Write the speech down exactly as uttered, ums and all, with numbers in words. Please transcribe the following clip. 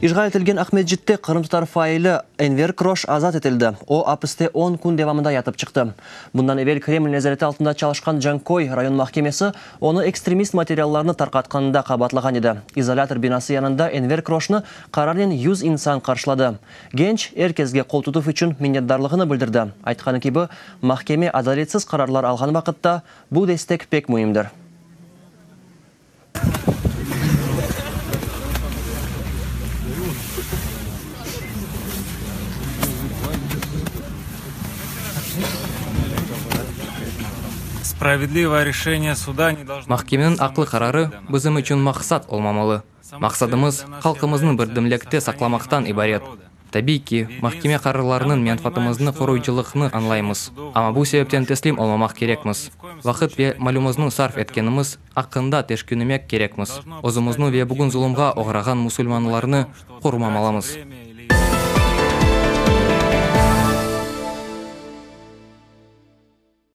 İşğal etilgen Aqmescitte qırımtatar faili Enver Kroş azat etildi. O, apiste on kün devamında yatıp çıqtı. Bundan evel Kreml nezareti altında çalışqan Canköy rayon mahkemesi onı ekstremist materiallarını tarqatqanında qabaatlağan edi. İzolâtor binası yanında Enver Kroşnı qararnen yüz insan qarşıladı. Genç er kesge qoltutuv içün minnetdarlığını bildirdi. Aytqanı kibi, mahkeme adaletsiz qararlar alğan vaqıtta bu destek pek müimdir. Mahkemeniñ aqlı qararı bizim içün maqsat olmamalı. Maqsadımız halqımıznı birdemlikte saqlamaqtan ibaret. Tabiiy ki, mahkeme qararlarınıñ menfaatımıznı qoruyıcılığını añlaymız, amma bu sebepten teslim olmamaq kerekmiz. Vaqıt ve malımıznı sarf etkenimiz aqqında tüşünmemek kerekmiz. Özümizni ve bugün zulumğa oğrağan musulmanlarnı qorumamalımız.